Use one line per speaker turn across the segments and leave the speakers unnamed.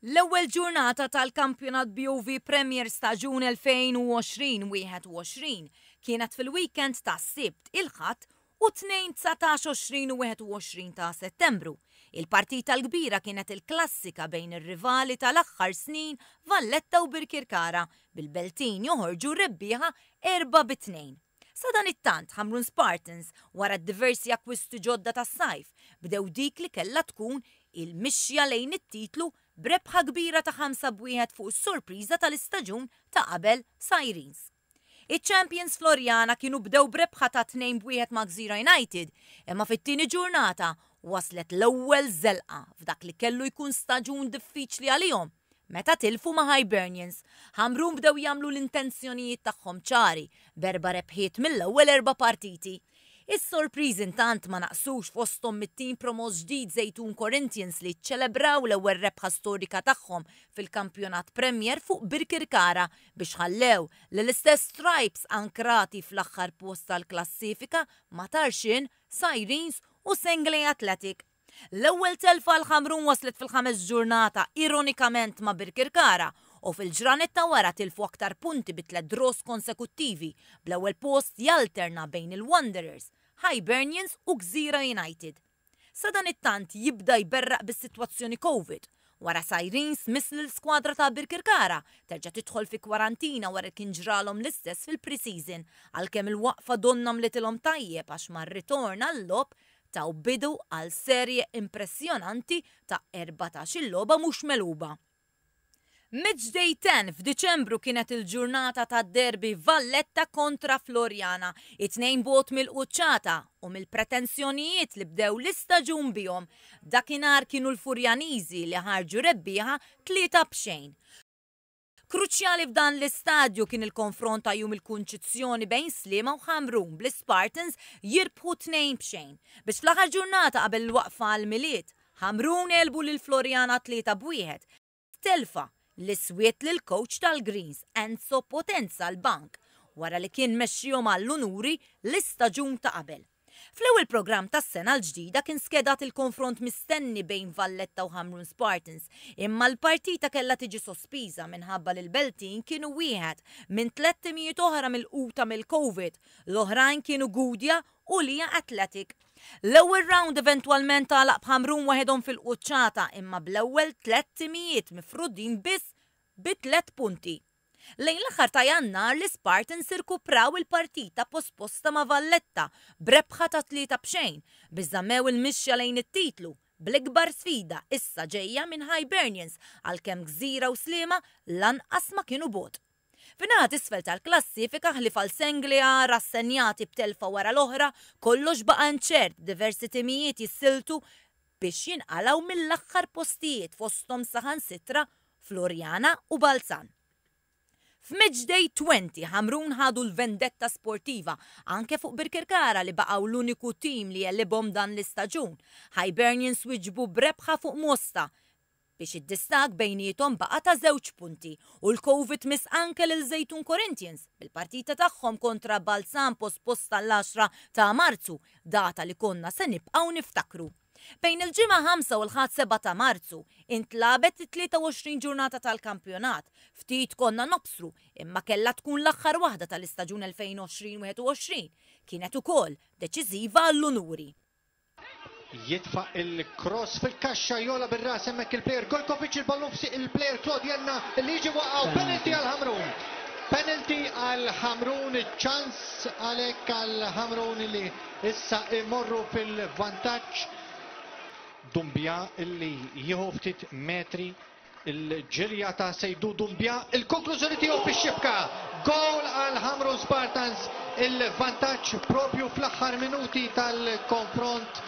L-ewwel ġurnata tal-Kampjonat BOV Premier staġun 2020-21 kienet fil-weekend tas-Sibt, il-Ħadd u t-Tnejn 19, 20 u 21 ta' Settembru. Il-partita l-kbira kienet il-klassika bejn ir-rivali tal-aħħar snin Valletta u Birkirkara, bil-Beltin joħorġu rebbieħa 4-2. Sadanittant, Ħamrun Spartans, wara d-diversi akkwisti ġodda tas-sajf, bdew dik li kellha tkun il-mixja lejn it-titlu b'rebħa kbira ta' 5-1 fuq is-sorpriża tal-istaġun ta' qabel Sirens. Iċ-champions Floriana kienu bdew b'rebħa ta' 2-1 ma' Gżira United, imma fit-tieni ġurnata waslet l-ewwel żelqa f'dak li kellu jkun staġun diffiċli għalihom meta tilfu ma' Hibernians. Ħamrun bdew jagħmlu l-intenzjonijiet tagħhom ċari b'erba' rebħiet mill-ewwel erba' partiti. Is-sorpriżi intant ma naqsux fosthom mit-tim promoss ġdid Żejtun Corinthians li ċċelebraw l-ewwel rebħa storika tagħhom fil-Kampjonat Premier fuq Birkirkara biex ħallew lill-istess Stripes ankrati fl-aħħar post tal-klassifika ma' Tarxien, Sirens u Senglea Athletic. L-ewwel telfa għal Ħamrun waslet fil-ħames ġurnata, ironikament ma' Birkirkara, u fil-ġranet ta' wara tilfu aktar punti bi tliet draws konsekuttivi, bl-ewwel post jalterna bejn il-Wanderers, Hibernians u Gżira United. Sadanittant jibda jberraq bis-sitwazzjoni Covid, wara Sirens miss lill-skwadra ta' Birkirkara terġa' tidħol fi kwarantina wara li kien ġralhom l-istess fil-pre-season, għalkemm il-waqfa donnha mlitilhom tajjeb għax mar-ritorn għal-logħob taw bidu għal serje impressjonanti ta' 14-il logħba mhux megħluba. Matchday 10 f'Diċembru kienet il-ġurnata tad-derby Valletta kontra Floriana, it-tnejn bogħod mill-quċċata u mill-pretensjonijiet li bdew l-istaġun bihom. Dakinhar kienu l-Furjaniżi li ħarġu rebbieħa 3-0. Kruċjali f'dan l-istadju kien il-konfront ta' Jum il-Kunċizzjoni bejn Sliema u Ħamrun bl-Ispartans jirbħu 2-0. Biex fl-aħħar ġurnata qabel il-waqfa għall-Milied, Ħamrun għelbu lil Floriana 3-1, telfa li swiet lill-kowċ tal-Greens Enzo Potenza l-bank wara li kien mexxihom għall-unuri l-istaġun ta' qabel. Fl-ewwel programm tas-sena l-ġdida kien skedat il-konfront mistenni bejn Valletta u Ħamrun Spartans, imma l-partita kellha tiġi sospiża minħabba li l-Beltin kienu wieħed minn tliet timijiet oħra milquta mill-Covid, l-oħrajn kienu Gudja u Lija Athletic. L-ewwel round eventwalment għalaq b'Ħamrun waħedhom fil-quċċata imma bl-ewwel tliet timijiet mifrudin biss bi tliet punti. Lejn l-aħħar ta' Jannar l-Ispartans irkupraw il-partita posposta ma' Valletta b'rebħa ta' 3-0 biex żammew il-mixja lejn it-titlu, bl-ikbar sfida issa ġejja minn Hibernians għalkemm Gżira u Sliema lanqas ma kienu bogħod. Fin-naħa t'isfel tal-klassifika ħlief għal Senglea rassenjati b'telfa wara l-oħra, kollox baqa' inċert b'diversi timijiet jissiltu biex jinqalgħu mill-aħħar postijiet fosthom saħansitra Floriana u Balzan. F'Matchday 20, Ħamrun ħadu l-vendetta sportiva anke fuq Birkirkara li baqgħu l-uniku tim li għelibhom dan l-istaġun. Hibernians wieġbu b'rebħa fuq Mosta biex id-distakk bejniethom baqa' ta' żewġ punti u l-Covid miss anke lil Żejtun Corinthians bil-partita tagħhom kontra Balzan posposta għall-10 ta' Marzu, data li konna se nibqgħu niftakru. Bejn il-Ġimgħa 5 u l-Ħadd 7 ta' Marzu, intlagħbet it-23 ġurnata tal-kampjonat. Ftit konna nobsru, imma kellha tkun l-aħħar waħda tal-istaġun 2020-21. Kienet ukoll deċiżiva għall-unuri.
Jitfa' il-cross fil-kaxxa jogħla bir-ras hemmhekk il-plejer Golkovic il-ballun f'sieq il-plejer Claude Jenna li jiġi waqgħu penalty għal Ħamrun. Penalty għal Ħamrun, ċans għalhekk għal Ħamrun li Issa imorru fil-vantaġġ. Doumbia illi jieħu ftit metri il-ġirja ta' Seydou Doumbia, il-konklużjoni tiegħu fix-xibka. Goal għal Ħamrun Spartans, il-vantaġġ propju fl-aħħar minuti tal-konfront.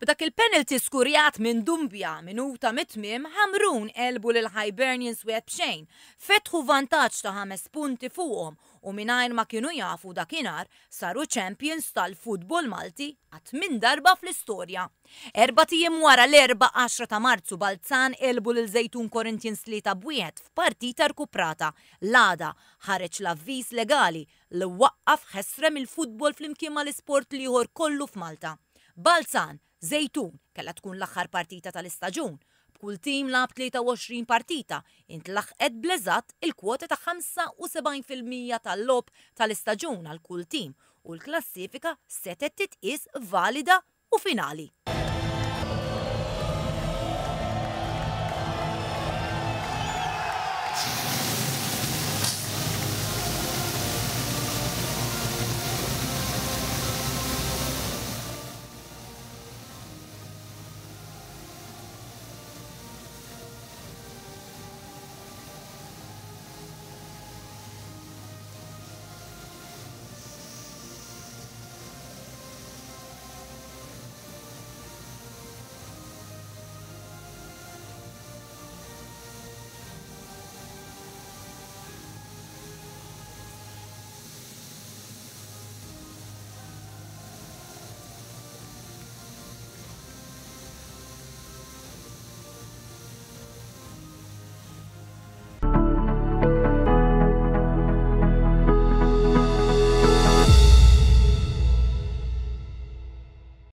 B'dak il-penalty skurjat minn Doumbia minuta mit-tmiem, Ħamrun għelbu lil Hibernians 1-0, fetħu vantaġġ ta' ħames punti fuqhom u mingħajr ma kienu jafu dakinhar saru champions tal-futbol Malti għat-tmien darba fl-istorja. Erbat ijiem wara l-Erbgħa 10 ta' Marzu Balzan għelbu lil Żejtun Corinthians 3-1 f'partita rkuprata. L-għada ħareġ l-avviż legali li waqqaf ħesrem il-futbol flimkien mal-isport l-ieħor kollu f'Malta. Balzan, Żejtun kellha tkun l-aħħar partita tal-istaġun. kull tim lagħab 23 partita, intlaħqet bl-eżatt il-kwota ta' 75% tal-logħob tal-istaġun għal kull tim u l-klassifika setgħet titqies valida u finali.